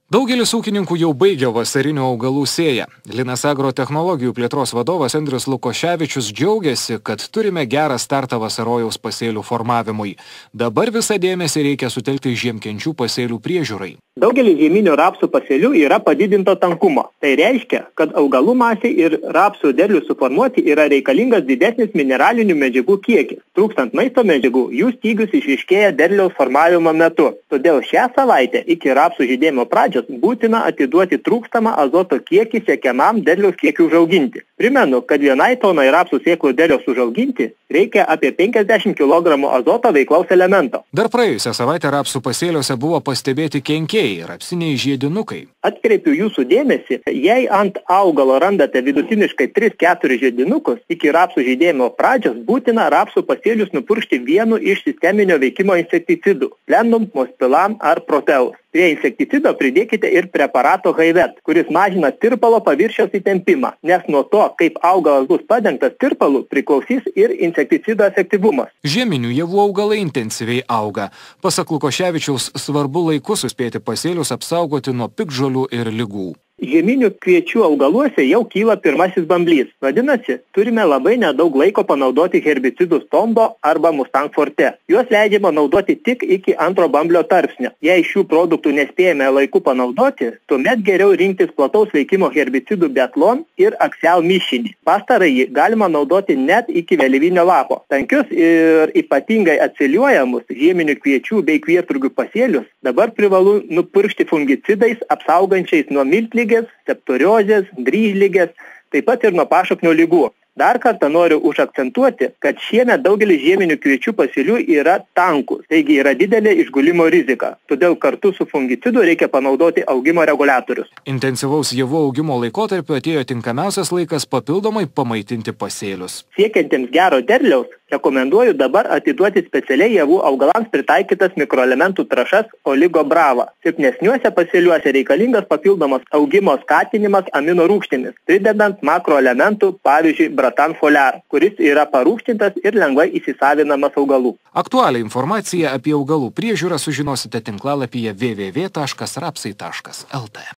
Daugelis ūkininkų jau baigia vasarinių augalų sėją. Linas Agro technologijų plėtros vadovas Andrius Lukoševičius džiaugiasi, kad turime gerą startą vasarojaus pasėlių formavimui. Dabar visą dėmesį reikia sutelkti žiemkenčių pasėlių priežiūrai. Daugelis žieminių rapsų pasėlių yra padidinto tankumo. Tai reiškia, kad augalų masė ir rapsų derlių suformuoti yra reikalingas didesnis mineralinių medžiagų kiekis. Trūkstant maisto medžiagų, jų stygius išryškėja derliaus formavimo metu. Todėl šią savaitę iki rapsų žydėjimo pradžios būtina atiduoti trūkstamą azoto kiekį siekiamam derliaus kiekiu užauginti. Primenu, kad vienai tonai rapsų sėklų derliaus užauginti reikia apie 50 kg azoto veiklaus elemento. Dar praėjusią savaitę rapsų pasėliuose buvo pastebėti kenkėjai, rapsiniai žiedinukai. Atkreipiu jūsų dėmesį, jei ant augalo randate vidutiniškai 3-4 žiedinukus, iki rapsų žydėjimo pradžios būtina rapsų pasėlius nupurkšti vienu iš sisteminio veikimo insekticidų – Plenum, Mospilan ar Proteus. Prie insekticido pridėkite ir preparato Haivet, kuris mažina tirpalo paviršiaus įtempimą, nes nuo to, kaip augalas bus padengtas tirpalu, priklausys ir insekticido efektyvumas. Žieminių javų augalai intensyviai auga. Pasak Lukoševičiaus, svarbu laiku suspėti pasėlius apsaugoti nuo piktžolių ir ligų. Žieminių kviečių augaluose jau kyla pirmasis bamblys. Vadinasi, turime labai nedaug laiko panaudoti herbicidus Tombo arba Mustang Forte. Juos leidžiama naudoti tik iki antro bamblio tarpsnio. Jei šių produktų nespėjame laiku panaudoti, tuomet geriau rinktis plataus veikimo herbicidų Betlon ir Axial mišinį. Pastarąjį galima naudoti net iki vėlyvinio lapo. Tankius ir ypatingai atsiliuojamus žieminių kviečių bei kvietrugių pasėlius dabar privalu nupurkšti fungicidais apsaugančiais nuo miltligės, septoriozės, dryžligės, taip pat ir nuo pašaknio ligų. Dar kartą noriu užakcentuoti, kad šiemet daugelis žieminių kviečių pasėlių yra tankus, taigi yra didelė išgulimo rizika. Todėl kartu su fungicidu reikia panaudoti augimo reguliatorius. Intensyvaus javų augimo laikotarpiu atėjo tinkamiausias laikas papildomai pamaitinti pasėlius. Siekiantiems gero derliaus, rekomenduoju dabar atiduoti specialiai javų augalams pritaikytas mikroelementų trąšas Oligo Brava. Silpnesniuose pasėliuose reikalingas papildomas augimo skatinimas amino rūgštimis, pridedant makroelementų, pavyzdžiui, Bratan Foliar, kuris yra parūgštintas ir lengvai įsisavinamas augalų. Aktualią informaciją apie augalų priežiūrą sužinosite tinklalapyje www.rapsai.lt.